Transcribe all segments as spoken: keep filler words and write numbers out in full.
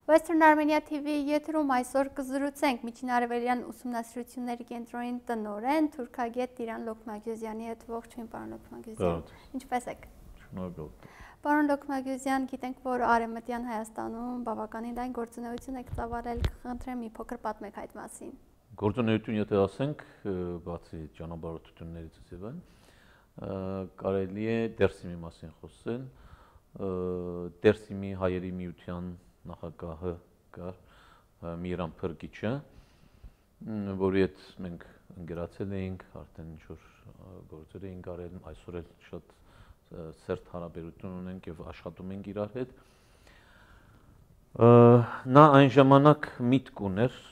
Western Armenia T V եթերում այսօր կզրուցենք Միջինարևելյան ուսումնասիրությունների կենտրոնի տնօրեն թուրքագետ Տիրան Լոքմագյուզյանի հետ։ Ողջույն, պարոն Լոքմագյուզյան։ Ինչպե՞ս եք։ Շնորհակալ։ Պարոն Լոքմագյուզյան, գիտենք, որ Արևմտյան Հայաստանում բավականին լայն գործունեություն եք ծավալել, կխնդրեմ մի փոքր պատմեք այդ մասին։ Գործունեություն, եթե ասենք, բացի ճանապարհորդություններից եւ այն, կարելի է Դերսիմի մասին խոսել, Դերսիմի հայերի միության նախագահը կար Միրան Փրկիչը, որի հետ մենք ընկերացել էինք, արդեն ինչ-որ գործեր էինք արել, այսօր էլ շատ սերտ հարաբերություն ունենք եւ աշխատում ենք իրար հետ։ Նա այն ժամանակ միտք ուներ,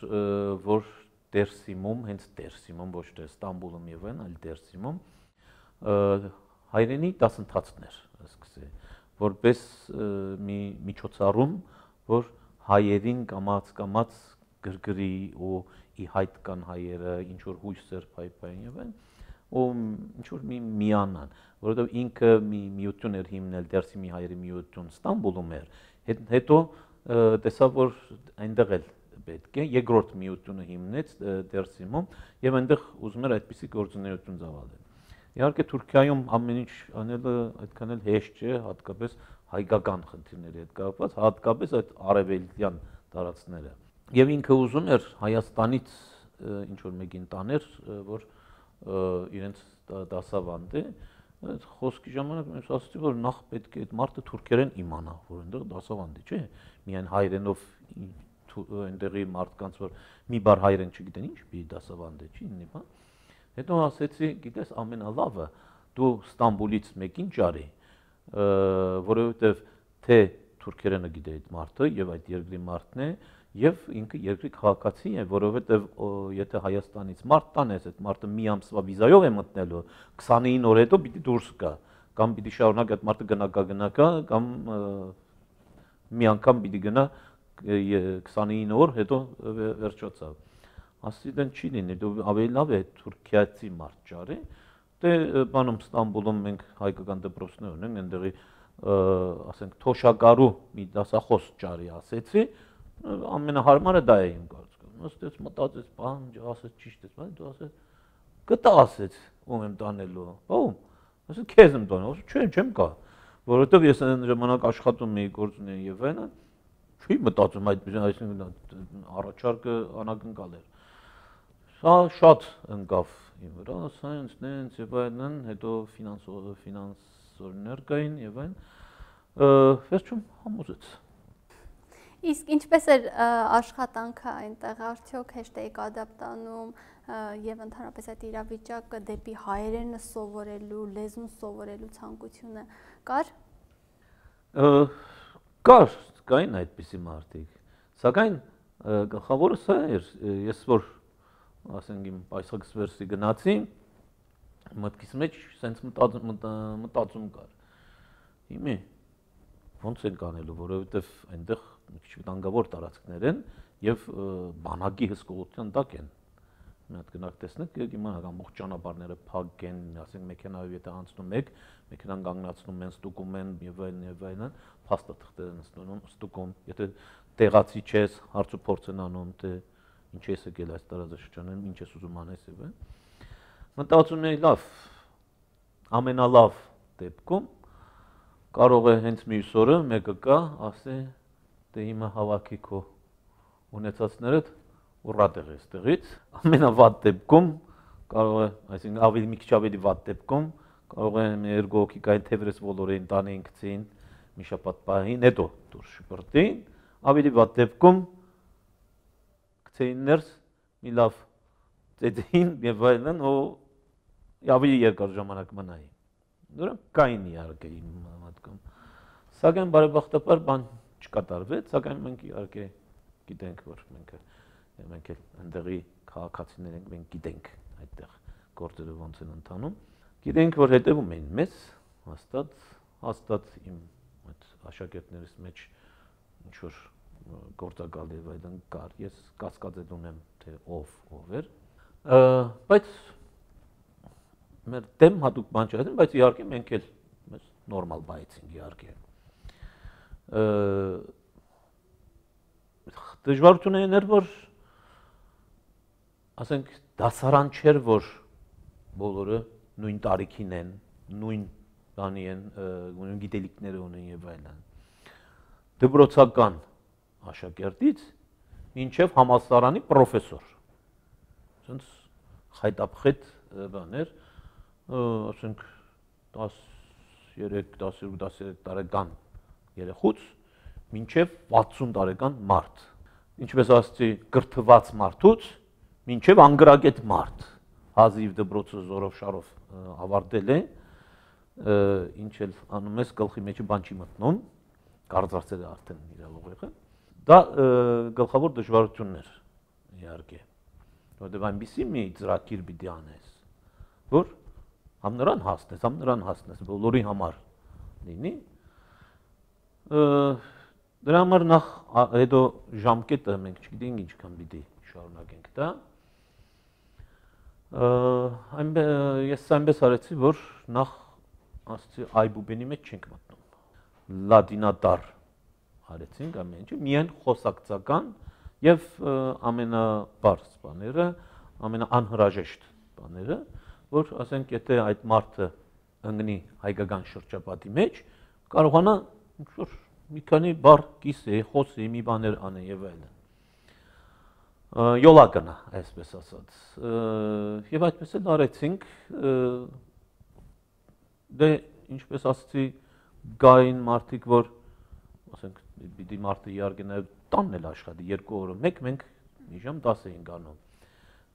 որ Դերսիմում, հենց Դերսիմում, ոչ թե Ստամբուլում եւ այն, այլ Դերսիմում հայրենի դասընթացներ սկսել, որպես մի միջոցառում, որ հայերին կամաց-կամաց գրգրի ու ի հայտ կան հայերը, ինչ որ հույսեր փայփային եւ այն, ու ինչ որ մի միանան, որովհետեւ ինքը մի միություն էր հիմնել, Դերսիմի հայերի միություն Ստամբուլում էր, հետո տեսավ, որ այնտեղ էլ պետք է երկրորդ միությունը հիմնեց Դերսիմում եւ այնտեղ ուզում էր այդպիսի գործունեություն ծավալել։ Իհարկե Թուրքիայում ամեն ինչ անելը այդքան էլ հեշտ չէ, հատկապես հայկական խնդիրների հետ կապված, հատկապես այդ արևելյան տարածքները։ Եվ ինքը ուզում էր Հայաստանից ինչ որ մեկին տաներ, որ իրենց դասավանդի, այդ խոսքի ժամանակ ես ասացի, որ նախ պետք է այդ մարդը թուրքերեն իմանա, որ այնտեղ դասավանդի, չէ՞, միայն հայերենով այնտեղի մարդկանց, որ մի բառ հայերեն չգիտեն, ինչ պիտի դասավանդի, չի ինի բան։ Հետո ասեցի, գիտես, ամենալավը դու Ստամբուլից մեկին ճարի, որովհետև թե թուրքերենը գիտե այդ մարդը եւ այդ երկրի մարդն է եւ ինքը երկրի քաղաքացի է, որովհետեւ եթե Հայաստանից մարդ տանես, այդ մարդը մի ամսվա վիզայով է մտնելու, քսանինը օր հետո պիտի դուրս գա, կամ պիտի շարունակ այդ մարդը գնա գա գնա գա, կամ մի անգամ պիտի գնա քսանինը օր հետո վերջացավ։ Ասի դեն չի լինի, դու ավելի լավ է թուրքիացի մարդ ճարի, դե բանում Ստամբուլում մենք հայկական դպրոցներ ունենք, այնտեղի ասենք թոշակարու մի դասախոս ճարի ասեցի, ամենահարմարը դա է իմ կարծիքով։ Ըստեց մտածեց, բան, ասեց ճիշտ է, բայց դու ասեց կտա ասեց, ում եմ տանելու, ո՞ում։ Ասեց քեզ եմ տանել, ասեց չէ, չեմ գա, որովհետև ես այն ժամանակ աշխատում էի գործունեի եւ այնը, չի մտածում այդ այսինքն առաջարկը անակնկալ էր։ Սա շատ ընկավ իմ վրա, սայնս, նենց եւ այլն, հետո ֆինանսորներ կային եւ այն, վերջում համոզեց։ Իսկ ինչպես էր աշխատանքը այնտեղ, արդյոք հեշտ եք ադապտանում եւ ընդհանրապես այդ իրավիճակը դեպի հայերենը սովորելու, լեզուն սովորելու ցանկությունը կար։ Կար, կային այդպիսի մարդիկ, սակայն գլխավորը սա էր, ես որ ասենք իմ պայսակս վերսի գնացի, մտքիս մեջ սենց մտածում կար, իմի, ոնց ենք անելու, որովհետև այնտեղ մի քիչ վտանգավոր տարածքներ են և բանակի հսկողության տակ են, մի հատ գնաք տեսնեք, իմանաք ամբողջ ճանապարհները փակ են, ասենք մեքենայով եթե անցնում եք, մեքենան կանգնացնում են, ստուգում են եւ այլն եւ այլն, փաստաթղթեր են ստանում, ստուգում, եթե տեղացի չես, հարց ու փորձ են անում, թե ինչ ես եկել այս տարածաշրջանում, ինչ ես ուզում անես եւ այլն։ Մտածում էի լավ, ամենալավ դեպքում կարող է հենց մյուս օրը մեկը կա, ասե, դե հիմա հավաքի քո ունեցածներդ ուռատեղ ես տեղից, ամենավատ դեպքում կարող է, այսինքն ավելի մի քիչ ավելի վատ դեպքում կարող է մի երկու հոգի կային թևերս ոլորեին տանեին գցին, մի շաբաթ պահին, հետո դուրս շպրտին, ավելի վատ դեպքում գցեին ներս, մի լավ ծեծեին եւ այլն, ու ավելի երկար ժամանակ մնային։ Դրանք կային իհարկե իմ մտքում։ Սակայն բարեբախտաբար բան չկատարվեց, սակայն մենք իհարկե գիտենք, որ մենք մենք էլ ընդդեղի քաղաքացիներ ենք, մենք գիտենք այդտեղ գործերը ոնց են ընթանում։ Գիտենք, որ հետևում էին մեզ, հաստատ, հաստատ իմ այդ աշակերտներիս մեջ ինչ որ գործակալ եւ այլն կար, ես կասկածել ունեմ, թե ով ով էր, բայց մեր դեմ հատուկ բան չէր, բայց իհարկե մենք էլ մեզ նորմալ բայեցինք իհարկե։ Դժվարությունն էր, որ ասենք դասարան չէր, որ բոլորը նույն տարիքին են, նույն բանի են, նույն գիտելիքները ունեն եւ այլն։ Դպրոցական աշակերտից մինչև համալսարանի պրոֆեսոր։ Ասենց խայտապխետ բաներ, ասենք տասներեք տասներեք տարեկան երեխուց մինչև վաթսուն տարեկան մարդ։ Ինչպես ասացի, կրթված մարդուց մինչև անգրագետ մարդ։ Հազիվ դպրոցը զորով շարով ավարտել է, ինչ էլ անում ես, գլխի մեջը բան չի մտնում, կարծրացել է արդեն իրավուղեղը։ Դա գլխավոր դժվարությունն էր, իհարկե, որտեղ այնպիսի մի ծրագիր պիտի անես, որ համ նրան հասնես, համ նրան հասնես, բոլորի համար լինի։ Դրա համար նախ հետո ժամկետը մենք չգիտենք ինչքան պիտի շարունակենք դա։ Ես այնպես արեցի, որ նախ ասացի այբուբենի մեջ չենք մտնում։ Լատինադար արեցինք ամեն ինչը, միայն խոսակցական եւ ամենաբարձ բաները, ամենաանհրաժեշտ բաները, որ ասենք եթե այդ մարդը ընկնի հայկական շրջապատի մեջ, կարողանա ինչ-որ մի քանի բառ կիսի, խոսի, մի բաներ անի եւ այլն։ Յոլա գնա, այսպես ասած։ Եվ այդպես էլ արեցինք, դե ինչպես ասացի, գային մարդիկ, որ ասենք պիտի մարդը իհարկե նաև տանն էլ աշխատի, երկու օրը մեկ մենք մի ժամ դաս էինք անում։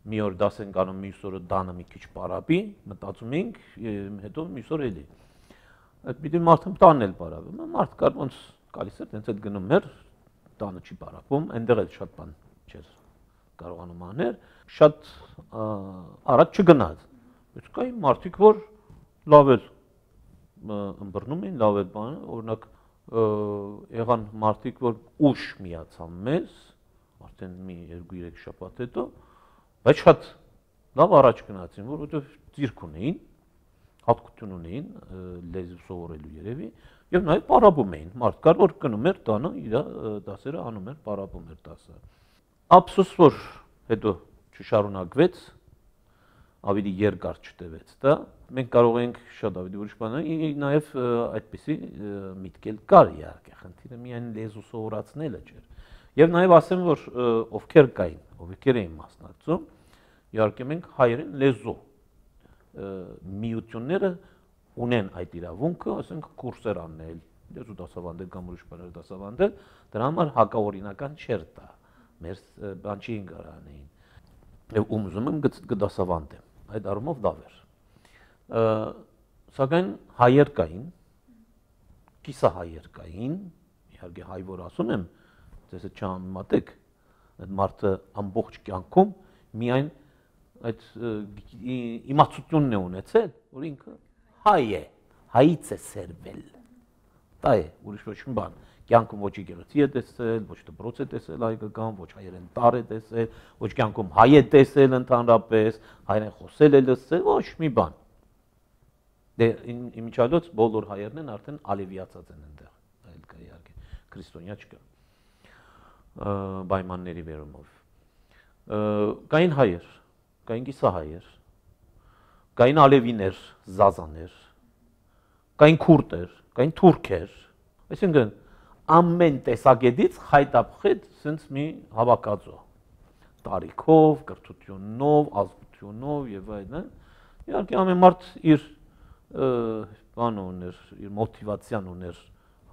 Մի օր դաս ենք անում, մյուս օրը տանը մի քիչ պարապի, մտածում էինք, հետո մյուս օր էլի։ Այդ պիտի մարդը տանն էլ պարապի։ Մարդ կար ոնց գալիս էր, տենց էլ գնում էր, տանը չի պարապում, այնտեղ էլ շատ բան չէր կարողանում անել, շատ առաջ չգնաց։ Բայց կային մարդիկ, որ լավ էլ ըմբռնում էին, լավ էլ բանը, օրինակ եղան մարդիկ, որ ուշ միացան մեզ, արդեն մի երկու երեք շաբաթ հետո, բայց շատ լավ առաջ գնացին, որովհետև ծիրք ունեին, հատկություն ունեին լեզու սովորելու երևի, եւ նաեւ պարապում էին։ Մարդ կար, որ գնում էր տանը, իր դասերը անում էր, պարապում էր դասը։ Ափսոս որ հետո չշարունակվեց, ավելի երկար չտևեց դա, մենք կարող ենք շատ ավելի ուրիշ բաներ, նաև այդպիսի միտքել կար իհարկե, խնդիրը միայն լեզու սովորացնելը չէր։ Եվ նաև ասեմ, որ ովքեր կային, ովքեր էին մասնակցում, իհարկե մենք հայերեն լեզու միությունները ունեն այդ իրավունքը, ասենք կուրսեր անել, լեզու դասավանդել կամ ուրիշ բաներ դասավանդել, դրա համար հակաօրինական չէր դա։ Մեր բան չի ինգարանեին, եւ ում ուզում եմ գդասավանդեմ, այդ առումով լավ էր։ Սակայն հայեր կային, կիսահայեր կային, իհարկե հայ որ ասում եմ, ձեզ չհամեմատեք, այդ մարդը ամբողջ կյանքում միայն այդ իմացությունն է ունեցել, որ ինքը հայ է, հայից է սերվել։ Դա է, ուրիշ ոչ մի բան։ Կյանքում ոչ եկեղեցի է տեսել, ոչ դպրոց է տեսել հայկական, ոչ հայերեն տար է տեսել, ոչ կյանքում հայ է տեսել ընդհանրապես, հայերեն խոսել է լսել, ոչ մի բան։ Դե իմիջիալոց բոլոր հայերն են արդեն ալևիացած են այնտեղ, այլ կա իհարկե, քրիստոնյա չկա։ Պայմանների վերումով։ Կային հայեր, կային կիսահայեր, կային ալևիներ, զազաներ, կային քուրդեր, կային թուրքեր, այսինքն ամեն տեսակետից խայտապխետ սենց մի հավաքածո տարիքով, կրթությունով, ազգությունով եւ այլն։ Իհարկե ամեն մարդ իր բան ուներ, իր մոտիվացիան ուներ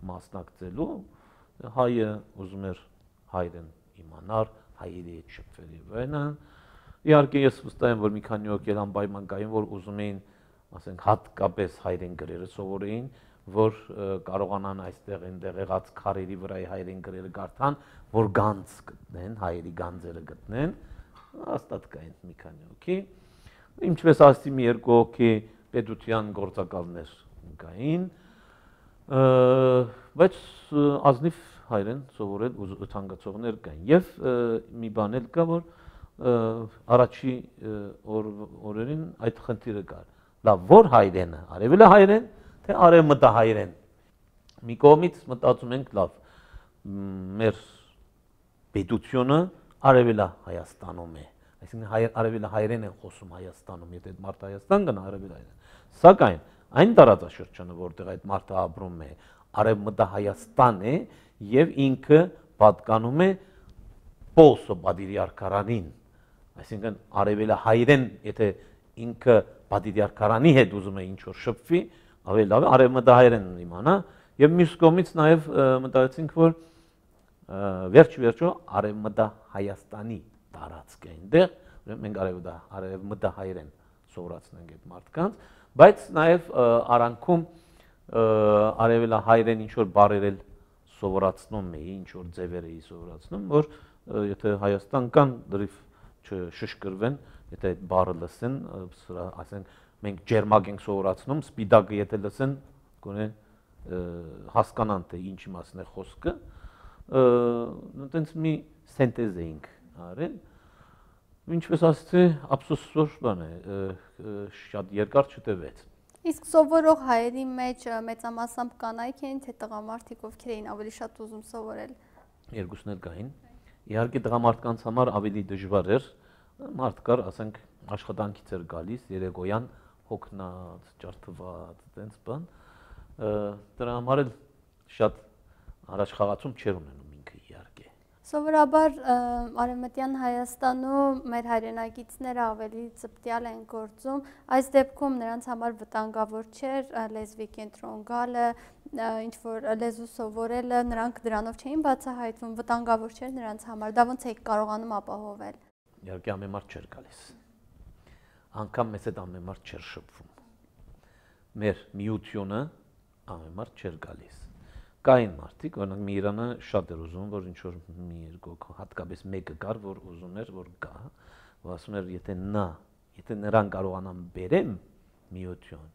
մասնակցելու, հայը ուզում էր հայրեն իմանալ, հայերի հետ շփվել եւ այլն։ Իհարկե ես վստահ եմ, որ մի քանի օր անպայման կային, որ ուզում էին, ասենք, հատկապես հայերեն գրերը սովորեին, որ կարողանան այստեղ այնտեղ եղած քարերի վրա հայերեն գրերը կարդան, որ գանձ գտնեն, հայերի գանձերը գտնեն, հաստատ կային մի քանի հոգի։ Ինչպես ասացի, մի երկու հոգի պետության գործակալներ կային, բայց ազնիվ հայերեն սովորել ցանկացողներ կային։ Եվ մի բան էլ կա, որ առաջի օրերին այդ խնդիրը կար։ Լավ, որ հայերենը, արևելը հայերեն, թե արևմտահայերեն։ Մի կողմից մտածում ենք լավ, մեր պետությունը արևելա Հայաստանում է, այսինքն արևելա հայերեն են խոսում Հայաստանում, եթե այդ մարդը Հայաստան գնա արևելա հայերեն, սակայն այն տարածաշրջանը, որտեղ այդ մարդը ապրում է, արևմտա Հայաստան է եւ ինքը պատկանում է Պոլսո Բադիրիարքարանին, այսինքն արևելա հայերեն, եթե ինքը Բադիրիարքարանի հետ ուզում է ինչ-որ շփվի, ավելի լավ է արևմտա հայերեն իմանա եւ մյուս կողմից նաեւ մտածեցինք, որ վերջ-վերջո արևմտա Հայաստանի տարածք է այնտեղ, ուրեմն մենք արևմտա արևմտա հայերեն սովորացնենք այդ մարդկանց, բայց նաեւ արանքում արևելա հայերեն ինչ-որ բառերել սովորացնում էի, ինչ-որ ձևեր էի սովորացնում, որ եթե Հայաստան կան դրիվ չշշկրվեն, եթե այդ բառը լսեն, ասենք մենք ջերմակ ենք սովորացնում, սպիտակը եթե լսեն, գոնե հասկանան թե ինչի մասն է խոսքը, այտենց մի սինտեզ էինք արել, ինչպես ասեցի, ափսոս որ բան է, շատ երկար չտևեց։ Իսկ սովորող հայերի մեջ մեծամասամբ կանայք էին, թե տղամարդիկ, ովքեր էին ավելի շատ ուզում սովորել։ Երկուսն էլ կային։ Իհարկե տղամարդկանց համար ավելի դժվար էր, մարդ կար, ասենք աշխատանքից էր գալիս, երեկոյան հոգնած, ջարդված, այդպես բան։ Դրա համար էլ շատ առաջ խաղացում չեր ունենում ինքը իհարկե։ Սովորաբար Արևմտյան Հայաստանում մեր հայրենակիցները ավելի ծպտյալ են գործում, այս դեպքում նրանց համար վտանգավոր չէր լեզվի կենտրոն գալը, ինչ-որ լեզու սովորելը, նրանք դրանով չէին բացահայտվում, վտանգավոր չէր նրանց համար, դա ոնց եք կարողանում ապահովել։ Իհարկե ամեն մարդ չէր գալիս, անգամ մեզ հետ ամեն մարդ չէր շփվում, մեր միությունը ամեն մարդ չէր գալիս, կային մարդիկ, օրինակ Միրանը շատ էր ուզում, որ ինչ-որ մի երկու հատկապես մեկը կար, որ ուզում էր, որ գա, որ ասում էր, եթե նա, եթե նրան կարողանամ բերեմ միություն,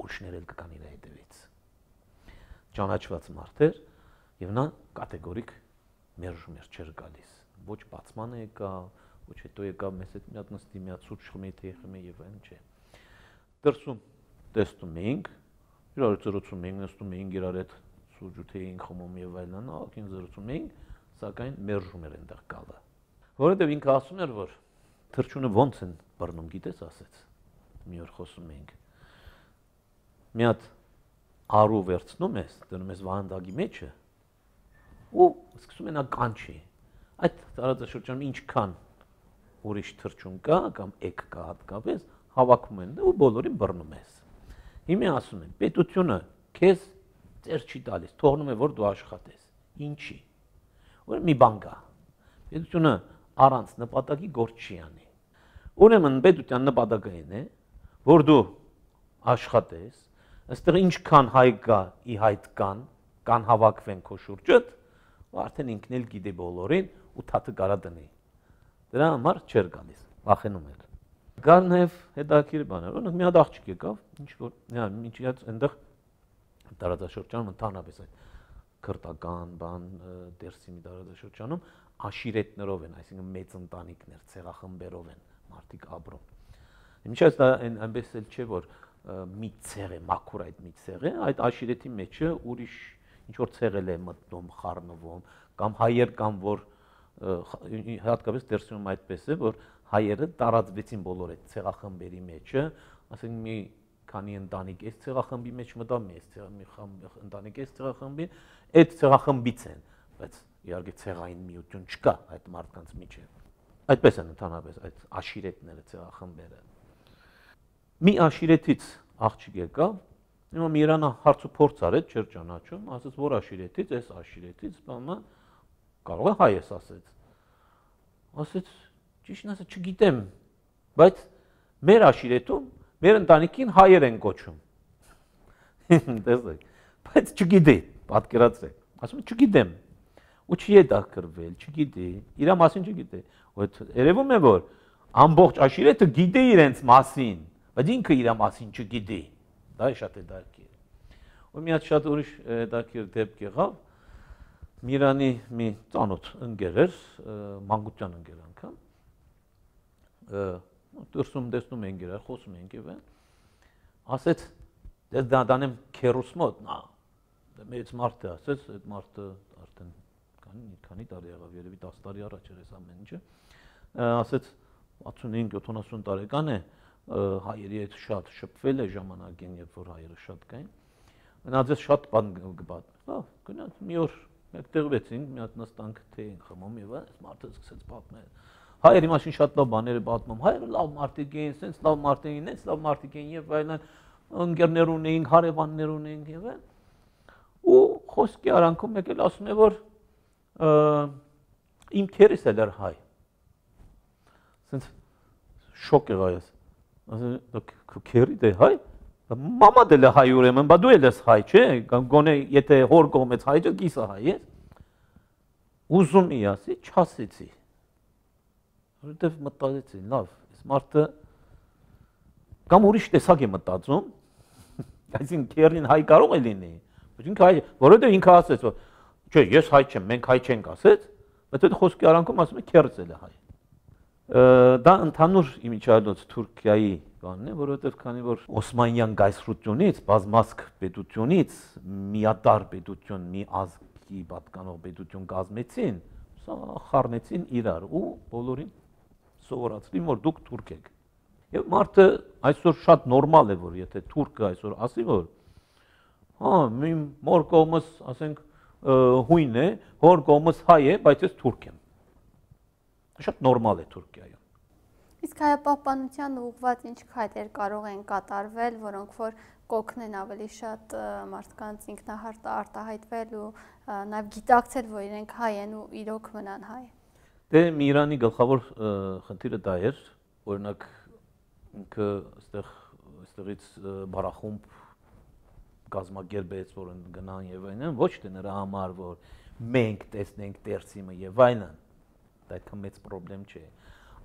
ուրիշներ էլ կգան իր հետևից, ճանաչված մարդ էր եւ նա կատեգորիկ մերժում էր, չէր գալիս, ոչ բացման է եկա, ոչ հետո եկա մեզ հետ մի հատ նստի, մի հատ սուրճ խմի, թե խմի եւ այլն չէ։ Դրսում տեսնում էինք, իրար ծրուցում էինք, նստում էինք իրար հետ սուրճ էինք խմում եւ այլն, ակին զրուցում էինք, սակայն մերժում էր այնտեղ գալը։ Որովհետեւ ինքը ասում էր, որ թրջունը ոնց են բռնում, գիտես, ասեց։ Մի օր խոսում էինք։ Մի հատ արու վերցնում ես, դնում ես վահանդակի մեջը ու սկսում են ականջի։ Այդ տարածաշրջանում ինչքան ուրիշ թրջուն կա կամ էգ կա հատկապես, հավաքում են ու բոլորին բռնում ես։ Հիմա ասում են, պետությունը քեզ ծեր չի տալիս, թողնում է որ դու աշխատես։ Ինչի։ Որ մի բան կա։ Պետությունը առանց նպատակի գործ չի անի։ Ուրեմն պետության նպատակը այն է, որ դու աշխատես, այստեղ ինչքան հայ կա, ի հայտ կան, կան հավաքվեն քո շուրջդ, արդեն ինքն էլ գիտի բոլորին ու թաթը կարա դնի։ Դրա համար չէր գալիս, վախենում էր։ Կար նաև հետաքրքիր բաներ, օրինակ մի հատ աղջիկ եկավ, ինչ որ, ինչի հատ այնտեղ տարածաշրջանում ընդհանրապես այդ քրտական բան դերսի մի տարածաշրջանում աշիրետներով են, այսինքն մեծ ընտանիքներ, ցեղախմբերով են մարդիկ ապրում։ Ինչպես դա այնպես էլ չէ, որ մի ցեղ է, մաքուր այդ մի ցեղ է, այդ աշիրետի մեջը ուրիշ ինչ որ ցեղել է մտնում, խառնվում, կամ հայեր կամ որ հատկապես դերսում այդպես է, որ հայերը տարածվեցին բոլոր այդ ցեղախմբերի մեջը, ասենք մի քանի ընտանիք այս ցեղախմբի մեջ մտավ, մի ընտանիք այս ցեղախմբի, այդ ցեղախմբից են, բայց իհարկե ցեղային միություն չկա այդ մարդկանց միջև։ Այդպես են ընդհանրապես այդ աշիրետները, ցեղախմբերը։ Մի աշիրետից աղջիկ եկավ, հիմա Միրանը հարց ու փորձ արեց, չէր ճանաչում, ասաց որ աշիրետից, այս աշիրետից, բանը կարող է հայ ես ասեց։ Ասեց, ճիշտն ասած չգիտեմ, բայց մեր աշիրետում մեր ընտանիքին հայեր են կոչում։ Տեսեք, բայց չգիտի, պատկերացրեք։ Ասում է չգիտեմ։ Ու չի է դակրվել, չգիտի, իր մասին չգիտի։ Որ երևում է որ ամբողջ աշիրետը գիտի իրենց մասին, բայց ինքը իր մասին չգիտի։ Դա է շատ հետաքրքիր։ Ու մի հատ շատ ուրիշ հետաքրքիր դեպք եղավ։ Միրանի մի ծանոթ ընկեր էր, մանկության ընկեր անգամ։ Դրսում տեսնում ենք իրար, խոսում ենք եւ ասեց դες դա դանեմ քերուս մոտ նա մեծ մարդ է ասեց այդ մարդը արդեն քանի քանի տարի եղավ, երևի տասը տարի առաջ էր այս ամեն ինչը, ասեց ութսունհինգ յոթանասուն տարեկան է, հայերի հետ շատ շփվել է ժամանակին, երբ որ հայերը շատ կային։ Մնաց ես շատ բան կպատմի։ Լավ, գնաց մի օր մեկտեղվեցինք, մի հատ նստանք թե ենք խմում եւ այս մարդը սկսեց պատմել։ Հայերի մասին շատ լավ բաներ է պատմում։ Հայերը լավ մարդիկ էին, sense լավ մարդիկ էին, sense լավ մարդիկ էին եւ այլն, ընկերներ ունեին, հարևաններ ունեին եւ այլն։ Ու խոսքի արանքում եկել ասում է, որ իմ քերս էլ էր հայ։ Sense շոկ եղա ես։ Ասում քերի դե հայ։ Մամա դել է հայ ուրեմն, բա դու էլ ես հայ, չէ՞։ Գոնե եթե հոր կողմից հայ չէ, կիսա հայ ես։ Ուզում էի ասի, չասեցի։ Որովհետև մտածեցի, լավ, այս մարդը կամ ուրիշ տեսակ է մտածում, այսինքն քերին հայ կարող է լինի, ինքը հայ, որովհետև ինքը ասեց, որ չէ, ես հայ չեմ, մենք հայ չենք ասեց, բայց այդ խոսքի արանքում ասում է քերս էլ է հայ։ Դա ընդհանուր իմիջիայլոց Թուրքիայի բանն է, որովհետև քանի որ Օսմանյան գայսրությունից, բազմազգ պետությունից միատար պետություն, մի ազգի պատկանող պետություն կազմեցին, սա խառնեցին իրար ու բոլորին սովորացրին, որ դուք թուրք եք։ Եվ մարդը այսօր շատ նորմալ է, որ եթե թուրքը այսօր ասի, որ հա, իմ մոր կողմս, ասենք, հույն է, հոր կողմս հայ է, բայց ես թուրք եմ։ Շատ նորմալ է Թուրքիայում։ Իսկ հայապահպանության ուղղված ինչ քայլեր կարող են կատարվել, որոնք որ կօգնեն ավելի շատ մարդկանց ինքնահարտ արտահայտվել ու նաև գիտակցել, որ իրենք հայ են ու իրոք մնան հայ։ Դե Իրանի գլխավոր խնդիրը դա էր, օրինակ ինքը այստեղ այստեղից բարախումբ կազմակերպեց, որ գնան եւ այլն, ոչ թե նրա համար, որ մենք տեսնենք Տերսիմը եւ այլն, դա այդքան մեծ խնդրեմ չէ։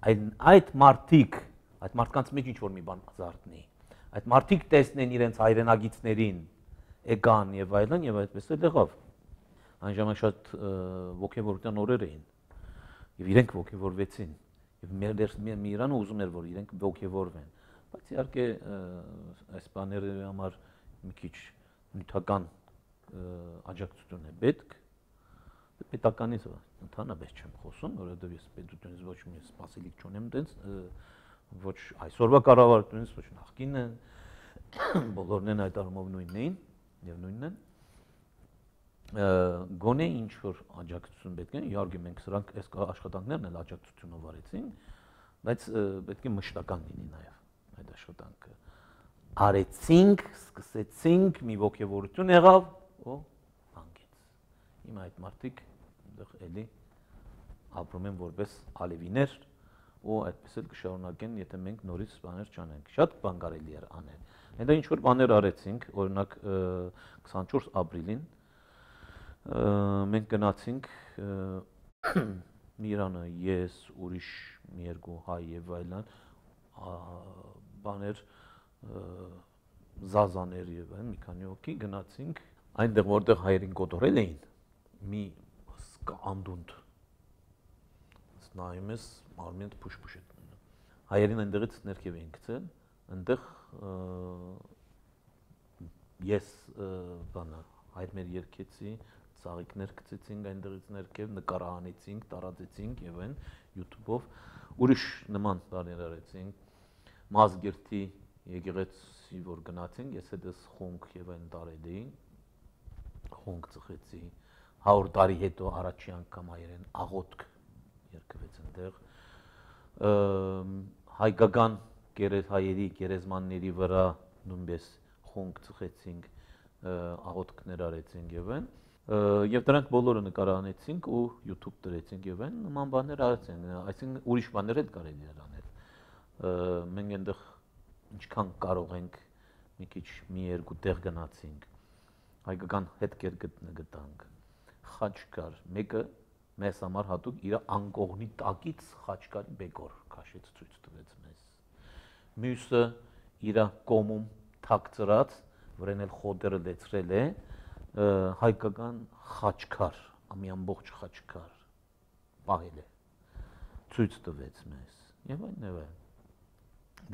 Այդ այդ մարդիկ, այդ մարդկանց մեջ ինչ որ մի բան ազարտնի։ Այդ մարդիկ տեսնեն իրենց հայրենագիտներին, եկան եւ այլն եւ այդպես էլ եղավ։ Այն ժամանակ շատ ոգևորության օրեր էին եւ իրենք ոգևորվեցին եւ մեր մի Իրանը ուզում էր, որ իրենք ոգևորվեն, բայց իհարկե այս բաների համար մի քիչ նյութական աջակցություն է պետք։ Պետականից ընդհանրապես չեմ խոսում, որովհետև ես պետությունից ոչ մի սպասելիք չունեմ տենց, ոչ այսօրվա կառավարությունից, ոչ նախկինը, բոլորն են այդ առումով նույնն էին եւ նույնն են։ Գոնե ինչ որ աջակցություն պետք է, իհարկե մենք սրանք այս աշխատանքներն էլ աջակցությունով արեցինք, բայց պետք է մշտական լինի նաեւ այդ աշխատանքը։ Արեցինք, սկսեցինք, մի ոգևորություն եղավ, ու Հիմա այդ մարդիկ այնտեղ էլի ապրում են որպես ալևիներ ու այդպես էլ կշարունակեն, եթե մենք նորից բաներ չանենք։ Շատ բան կարելի էր անել։ Այնտեղ ինչ որ բաներ արեցինք, օրինակ քսանչորս ապրիլին մենք գնացինք Իրանը, ես, ուրիշ մի երկու հայ եւ այլն բաներ զազաներ եւ այլն մի քանի հոգի գնացինք այնտեղ որտեղ հայերին կոտորել էին մի անդունդ նայում ես մարմինդ փուշ-փուշ է տնում հայերին այնտեղից ներքև էին գցել այնտեղ ես բանը հայրներ երկեցի ծաղիկներ գցեցինք այնտեղից ներքև նկարահանեցինք տարածեցինք եւ այն YouTube-ով ուրիշ նման բաներ արեցինք Մազգերտի եկեղեցի որ գնացինք ես հետս խոնք եւ այն տարել էի խոնք ծխեցի հարյուր տարի հետո առաջի անգամ հայերեն աղոթք երկվեց այնտեղ հայկական հայերի գերեզմանների վրա նույնպես խոնք ծխեցինք աղոթքներ արեցինք եւ այն եւ դրանք բոլորը նկարահանեցինք ու YouTube դրեցինք եւ այն նման բաներ արեցինք այսինքն ուրիշ բաներ էլ կարելի էր անել մենք այնտեղ ինչքան կարող ենք մի քիչ մի երկու տեղ գնացինք հայկական հետքեր գտանք խաչ կար մեկը մեզ համար հատուկ իր անկողնի տակից խաչկարի բեկոր քաշեց ցույց տվեց մեզ մյուսը իր կոմում թաքծրած վրան էլ խոտերը լեցրել է հայկական խաչքար ամի ամբողջ խաչքար պահել է ցույց տվեց մեզ եւ այն եւ այն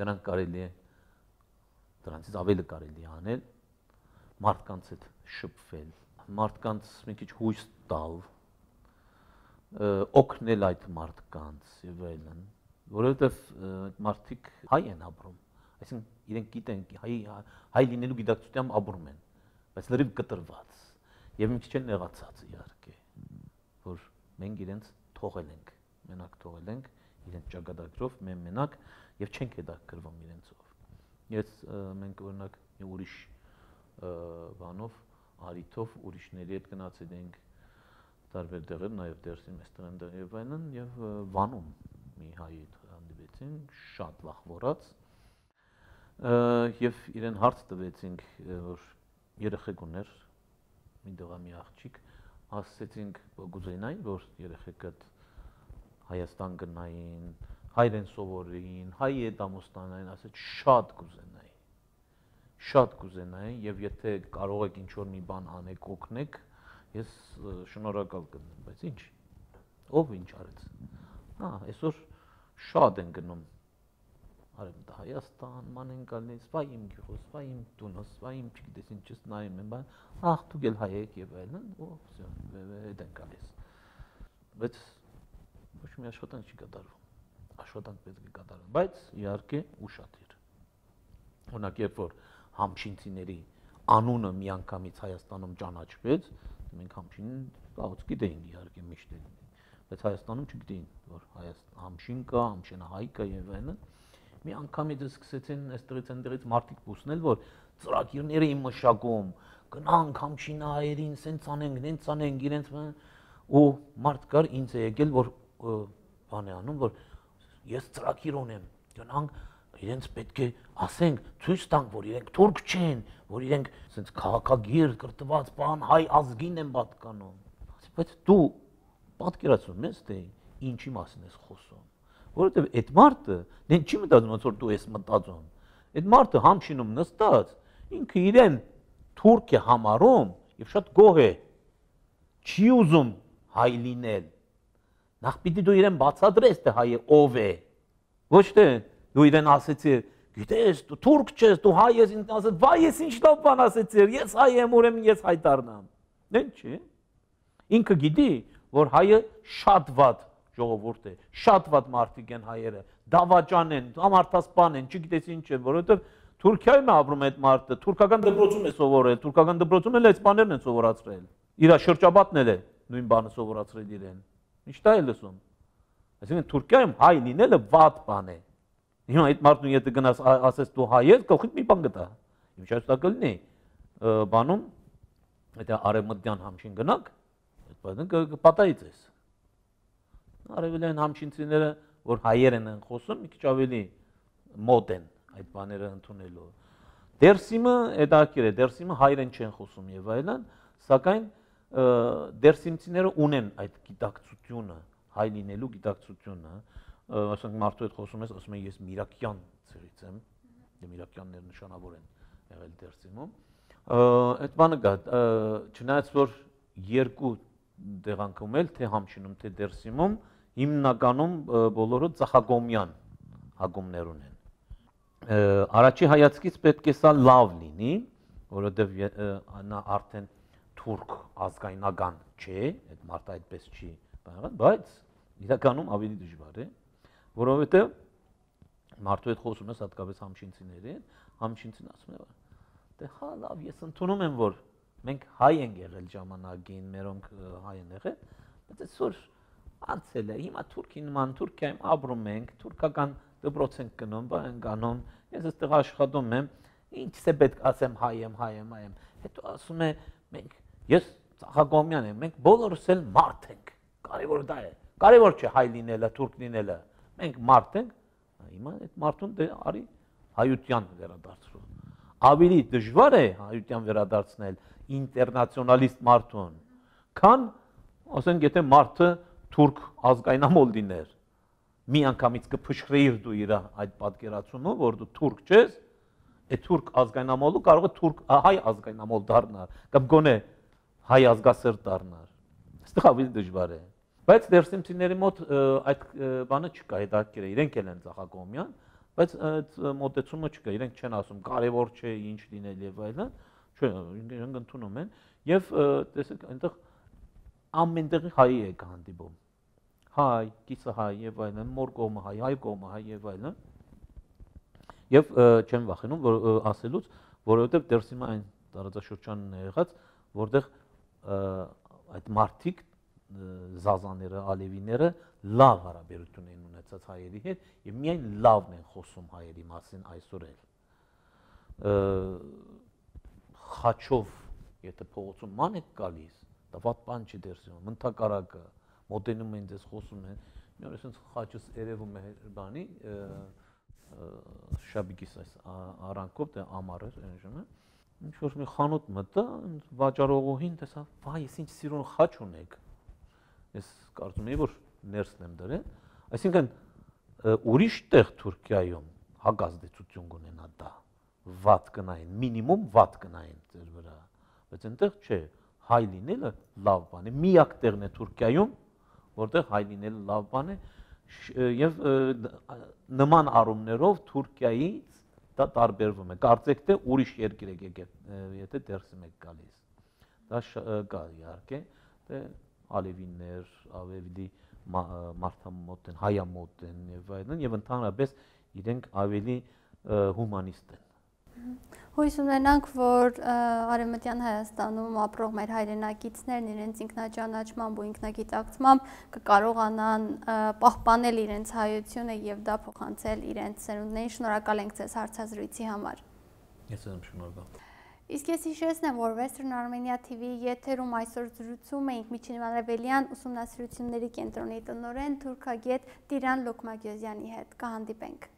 դրանք կարելի է դրանից ավելի կարելի է անել մարդկանց հետ շփվել մարդկանց մի քիչ հույս տալ օգնել այդ մարդկանց եւ այլն, որովհետեւ այդ մարդիկ հայ են ապրում, այսինքն իրենք գիտեն հայ հայ լինելու գիտակցությամբ ապրում են, բայց լրիվ կտրված եւ մի քիչ են նեղացած իհարկե, որ մենք իրենց թողել ենք, մենակ թողել ենք իրենց ճակատագրով, մեն մենակ եւ չենք հետաքրվում իրենցով։ Ես մենք օրինակ մի ուրիշ բանով, արիթով ուրիշների հետ գնացել ենք տարբեր տեղեր, նաեւ դերսին մեստեղ եւ այլն եւ Վանում մի հայ հետ հանդիպեցինք, շատ վախվորած եւ իրեն հարց տվեցինք, որ երեխեք ուներ, մի դողա մի աղջիկ, ասեցինք գուզենայի, որ երեխեքդ Հայաստան գնային, հայերեն սովորեին, հայ հետամուստանային, ասեց շատ կուզենայի, շատ կուզենայի եւ եթե կարող եք ինչ-որ մի բան անեք, օգնեք, ես շնորհակալ կլինեմ, բայց ինչ, ով ինչ արեց, հա, այսօր շատ են գնում, արեմ Հայաստան, ման են գալիս, վայ իմ գյուղս, վայ իմ տունս, վայ իմ չգիտես ինչս նայում են, բան, ախ դուք էլ հայ եք եւ այլն, ու վсё, հետ են գալիս, բայց ոչ մի աշխատանք չի կատարվում, աշխատանք պետք է կատարվի, բայց իհարկե ուշադիր։ Օրինակ, երբ որ համշինցիների անունը միանգամից Հայաստանում ճանաչվեց, մենք համշինին լավոց գիտեինք իհարկե միշտ, բայց Հայաստանում չգիտեին, որ համշին կա, համշենահայ կա եւ այլն։ Մի անգամից սկսեցին այստեղից այնտեղից մարդիկ փուսնել, որ ծրագիրներ էին մշակում, գնանք համշինահայերին, սենց անենք, նենց անենք, իրենց ու մարդ կար ինձ է եկել, որ բան է անում, որ ես ծրագիր ունեմ, գնանք իրենց պետք է ասենք, ցույց տանք, որ իրենք թուրք չեն, որ իրենք սենց քաղաքագիր կրտված բան հայ ազգին են պատկանում։ Բայց դու պատկերացնում ես, թե ինչի մասին ես խոսում, որովհետև այդ մարդը դեն չի մտածում, ոնց որ դու ես մտածում։ Այդ մարդը համշինում նստած, ինքը իրեն թուրք է համարում եւ շատ գոհ է, չի ուզում հայ լինել։ Նախ պիտի դու իրեն բացատրես, թե հայը ով է, ոչ թե դու իրեն ասեցի, գիտես, դու թուրք չես, դու հայ ես, ինքն ասեց, վայ ես ինչ լավ բան ասեցիր, ես հայ եմ, ուրեմն ես հայ դառնամ։ Դեն չի։ Ինքը գիտի, որ հայը շատ վատ ժողովուրդ է, շատ վատ մարդիկ են հայերը, դավաճան են, համարտասպան են, չգիտես ինչ են, որովհետև Թուրքիայում է ապրում այդ մարդը, թուրքական դպրոցում է սովորել, թուրքական դպրոցում էլ այդ բաներն են սովորացրել։ Իր շրջապատն էլ է նույն բանը սովորացրել իրեն։ Ինչ դա է լսում։ Այսինքն Թուրքիայում հայ լինելը վատ բան է։ Հիմա այդ մարդուն եթե գնաս ասես դու հայ ես, գլխիդ մի բան գտա։ Ինչ ասա կլինի, բանում այդ արևմտյան համշին գնանք, այդ բանը կպատայի ձեզ։ Արևելյան համշինցիները, որ հայերեն են խոսում, մի քիչ ավելի մոտ են այդ բաները ընդունելու։ Դերսիմը հետաքրքիր է, դերսիմը հայերեն չեն խոսում եւ այլն, սակայն դերսիմցիները ունեն այդ գիտակցությունը, հայ լինելու գիտակցությունը, ասենք մարդու հետ խոսում ես, ասում են ես Միրակյան ծերից եմ, եւ Միրակյանները նշանավոր են եղել դերսիմում։ Այդ բանը կա, չնայած որ երկու տեղանքում էլ թե համշինում, թե դերսիմում հիմնականում բոլորը ծախագոմյան հագումներ ունեն։ Առաջի հայացքից պետք է սա լավ լինի, որովհետև նա արդեն թուրք ազգայնական չէ, այդ մարդը այդպես չի բանալ, բայց իրականում ավելի դժվար է, որովհետև մարդու հետ խոսում ես հատկապես համշինցիների հետ, համշինցին ասում է, դե հա լավ, ես ընդունում եմ, որ մենք հայ ենք եղել ժամանակին, մերոնք հայ են եղել, բայց այսօր անցել է, հիմա Թուրքին նման Թուրքիայում ապրում ենք, թուրքական դպրոց ենք գնում, բան ենք անում, ես այստեղ աշխատում եմ, ինչս է պետք ասեմ հայ եմ, հայ եմ, հայ եմ, հետո ասում է մենք, ես ծախագոմյան եմ, մենք բոլորս էլ մարդ ենք, կարևոր դա է, կարևոր չէ հայ լինելը, թուրք լինելը, մենք մարդ ենք, հիմա այդ մարդուն դե արի հայության վերադարձրու, ավելի դժվար է հայության վերադարձնել ինտերնացիոնալիստ մարդուն, քան ասենք եթե մարդը թուրք ազգայնամոլ լիներ, մի անգամից կփշրեիր դու իր այդ պատկերացումը, որ դու թուրք չես, այդ թուրք ազգայնամոլը կարող է թուրք հայ ազգայնամոլ դառնալ, կամ գոնե հայ ազգասեր դառնալ։ Այստեղ ավելի դժվար է։ Բայց դերսիմցիների մոտ այդ բանը չկա, հետաքրքիր է, իրենք էլ են ծախագոմյան, բայց այդ մոտեցումը չկա, իրենք չեն ասում կարևոր չէ ինչ լինել եւ այլն, չէ, իրենք ընդունում են եւ տեսեք այնտեղ ամենտեղի հայ է հանդիպում։ հայ, կիսը հայ եւ այլն, մոր կողմը հայ, հայ կողմը հայ եւ այլն։ Եվ չեմ վախենում որ ասելուց, որովհետեւ դեռս հիմա այն տարածաշրջանն է եղած, որտեղ այդ մարդիկ զազաները, ալևիները լավ հարաբերություն են ունեցած հայերի հետ եւ միայն լավն են խոսում հայերի մասին այսօր էլ։ Խաչով, եթե փողոցում ման եք գալիս, դա ված բան չի դերսում, մնտակարակը մոտենում են դες խոսում են, մի օր այսպես խաչս երևում է բանի շաբիկիս այս արանքով դե ամառ էր այն ժամանակ ինչ որ մի խանութ մտա վաճառողուհին տեսա վայ ես ինչ սիրուն խաչ ունեք ես կարծում եի որ ներսն եմ դրել այսինքն ուրիշ տեղ Թուրքիայում հագազդեցություն կունենա դա վատ կնային մինիմում վատ կնային ձեր վրա բայց այնտեղ չէ հայ լինելը լավ բան է միակ տեղն է Թուրքիայում որտեղ հայ լինելը լավ բան է եւ նման առումներով Թուրքիայից դա տարբերվում է կարծեք թե ուրիշ երկիր եք եկել եթե դերսում եք գալիս դա կա իհարկե թե ալևիններ ավելի մարդամոտ են հայամոտ են եւ այլն եւ ընդհանրապես իրենք ավելի հումանիստ են Հույս ունենանք, որ Արևմտյան Հայաստանում ապրող մեր հայրենակիցներն իրենց ինքնաճանաչմամբ ու ինքնագիտակցմամբ կկարողանան պահպանել իրենց հայությունը եւ դա փոխանցել իրենց սերունդներին։ Շնորհակալ ենք ձեզ հարցազրույցի համար։ Ես եմ շնորհակալ։ Իսկ ես հիշեցնեմ, որ Western Armenia T V եթերում այսօր զրուցում էինք Միջին Արևելյան ուսումնասիրությունների կենտրոնի տնօրեն թուրքագետ Տիրան Լոկմագյոզյանի հետ։ Կհանդիպենք։